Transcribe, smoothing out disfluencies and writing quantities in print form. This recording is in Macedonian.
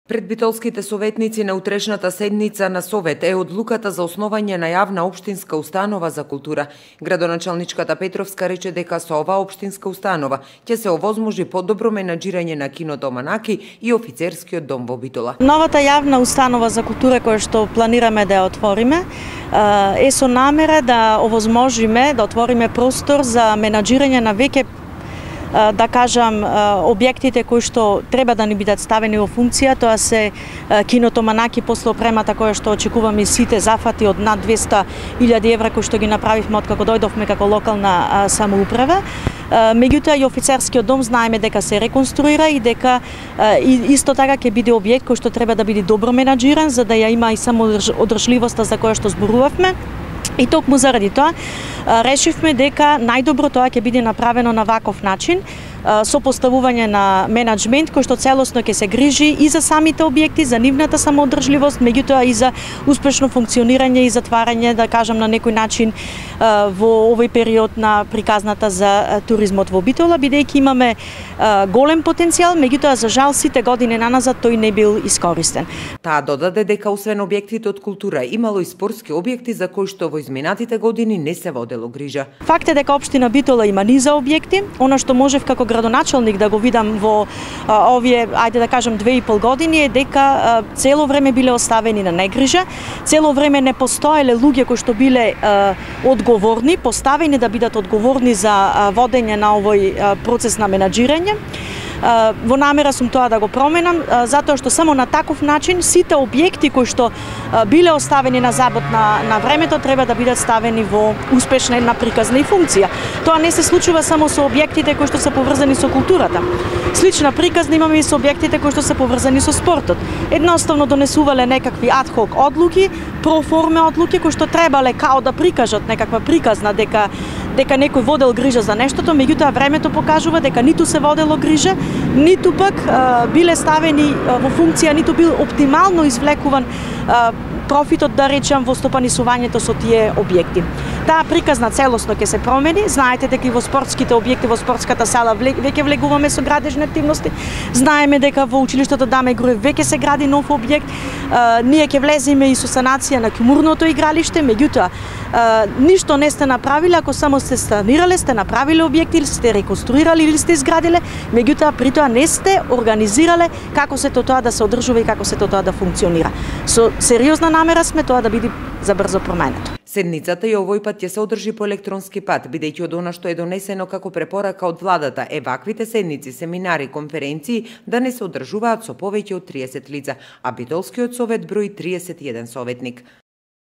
Пред битолските советници на утрешната седница на Совет е одлуката за основање на јавна општинска установа за култура. Градоначалничката Петровска рече дека со оваа општинска установа ќе се овозможи подобро менаџирање на киното Манаки и офицерскиот дом во Битола. Новата јавна установа за култура која што планираме да ја отвориме е со намера да овозможиме да отвориме простор за менаџирање на веќе да кажам објектите кои што треба да ни бидат ставени во функција. Тоа се киното Манаки после опремата која што очекуваме сите зафати од над 200.000 евра кои што ги направивме откако дојдовме како локална самоуправа. Меѓутоа и офицерскиот дом знаеме дека се реконструира и дека исто така ќе биде објект кој што треба да биде добро менаџиран за да ја има и само одржливоста за која што зборувавме. И токму заради тоа решивме дека најдобро тоа ќе биде направено на ваков начин, со поставување на менаџмент кој што целосно ќе се грижи и за самите објекти, за нивната самоодржливост, меѓутоа и за успешно функционирање и затварање, да кажам на некој начин, во овој период на приказната за туризмот во Битола, бидејќи имаме голем потенцијал, меѓутоа за жал сите години наназад тој не бил искористен. Таа додаде дека освен објектите од култура имало и спортски објекти за кои што во изминатите години не се водело грижа. Факт е дека општина Битола има низа објекти. Она што можев како градоначалник да го видам во овие, ајде да кажам, 2,5 години е дека цело време биле оставени на негрижа, цело време не постоеле луѓе кои што биле одговорни, поставени да бидат одговорни за водење на овој процес на менаџирање. Во намера сум тоа да го променам, затоа што само на таков начин сите објекти кои што биле оставени на забот на времето треба да бидат ставени во успешна една приказна и функција. Тоа не се случува само со објектите кои што се поврзани со културата. Слична приказна имаме и со објектите кои што се поврзани со спортот. Едноставно донесувале некакви адхок одлуки, проформе одлуки кои што требале као да прикажат некаква приказна дека некој водел грижа за нештото, меѓутоа времето покажува дека ниту се водело грижа, ниту пак биле ставени во функција, ниту бил оптимално извлекуван профитот, да речам, во стопанисувањето со тие објекти. Таа приказна целосно ќе се промени. Знаете дека и во спортските објекти, во спортската сала веќе влегуваме со градежни активности. Знаеме дека во училиштето Даме Груев веќе се гради нов објект. Ние ќе влеземе и со санација на кумурното игралиште, меѓутоа ништо не сте направиле ако само сте санирале, сте направиле објекти или сте реконструирале или сте изградиле, меѓутоа при тоа не сте организирале како се тоа да се одржува и како се тоа да функционира. Со сериозна намера сме тоа да биде забрзо променето. Седницата и овој пат ќе се одржи по електронски пат, бидејќи од она што е донесено како препорака од владата е ваквите седници, семинари, конференции да не се одржуваат со повеќе од 30 лица, а Битолскиот совет брои 31 советник.